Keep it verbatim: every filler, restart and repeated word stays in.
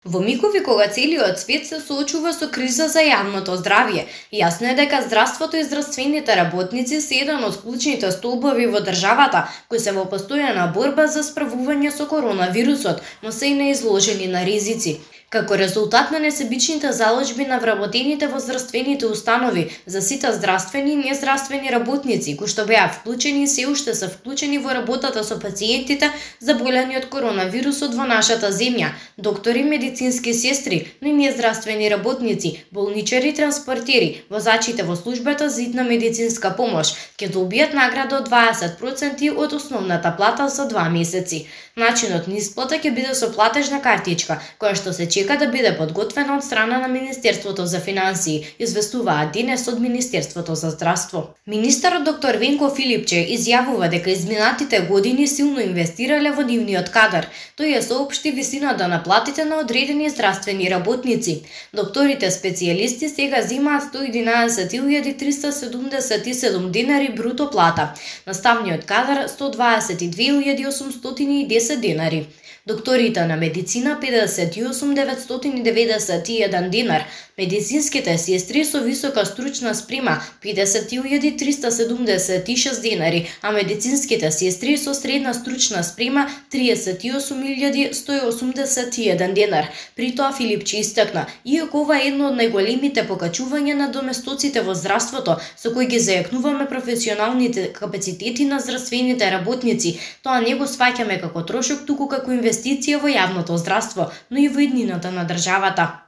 Во мигови кога целиот свет се соочува со криза за јавното здравје, јасно е дека здравството и здравствените работници се еден од клучните столбови во државата кои се во постојана борба за справување со коронавирусот, но се и неизложени на ризици. Како резултат на несебичните заложби на вработените во здравствените установи за сите здравствени и нездравствени работници кои што беа вклучени и се уште се вклучени во работата со пациентите заболени од коронавирусот во нашата земја, доктори, медицински сестри, но и нездравствени работници, болничари, транспортери, возачите во службата за итна медицинска помош, ќе добијат награда од дваесет проценти од основната плата за два месеци. Начинот на исплата ќе биде со платежна картичка, која што се чека да биде подготвена од страна на Министерството за финансии, известуваат денес од Министерството за здравство. Министерот доктор Венко Филипче изјавува дека изминатите години силно инвестирале во нивниот кадар. Тој ја соопшти висината на платите на одредени здравствени работници. Докторите специјалисти сега земаат сто и единаесет илјади триста седумдесет и седум денари бруто плата, наставниот кадар сто дваесет и две илјади осумстотини и десет денари. Докторите на медицина педесет и осум илјади деветстотини деветдесет и еден денар, медицинските сестри со висока стручна спрема педесет илјади триста седумдесет и шест денари, а медицинските сестри со средна стручна спрема триесет и осум илјади сто и осумдесет и еден денар. При тоа Филипче истакна, иако ова е едно од најголемите покачувања на доместоците во здравството, со кои ги зајакнуваме професионалните капацитети на здравствените работници, тоа не го сваќаме како трошок, туку како инвестиција во јавното здравство, но и во иднината на државата.